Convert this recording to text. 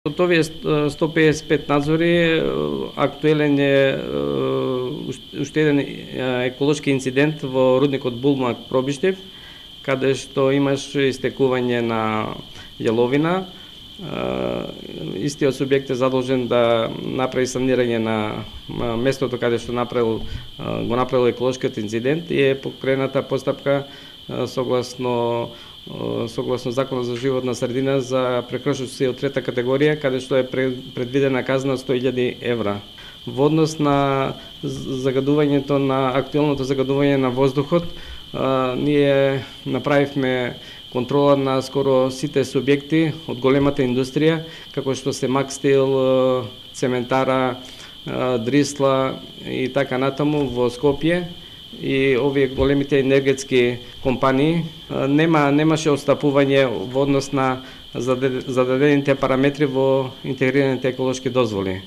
Од овие 155 надзори, актуелен е уште еден еколошки инцидент во рудникот Булмак Пробиштев, каде што имаш истекување на јаловина. Истиот субјект е задолжен да направи санирање на местото каде што го направил еколошкиот инцидент и е покрената постапка согласно Законот за животна средина за прекршоци од трета категорија, каде што е предвидена казна од 100.000 евра. Во однос на загадувањето на актуелното загадување на воздухот, ние направивме контрола на скоро сите субјекти од големата индустрија, како што се Макстил, Цементара, Дрисла и така натаму во Скопје. И овие големите енергетски компании немаше отстапување во однос на зададените параметри во интегрираните еколошки дозволи.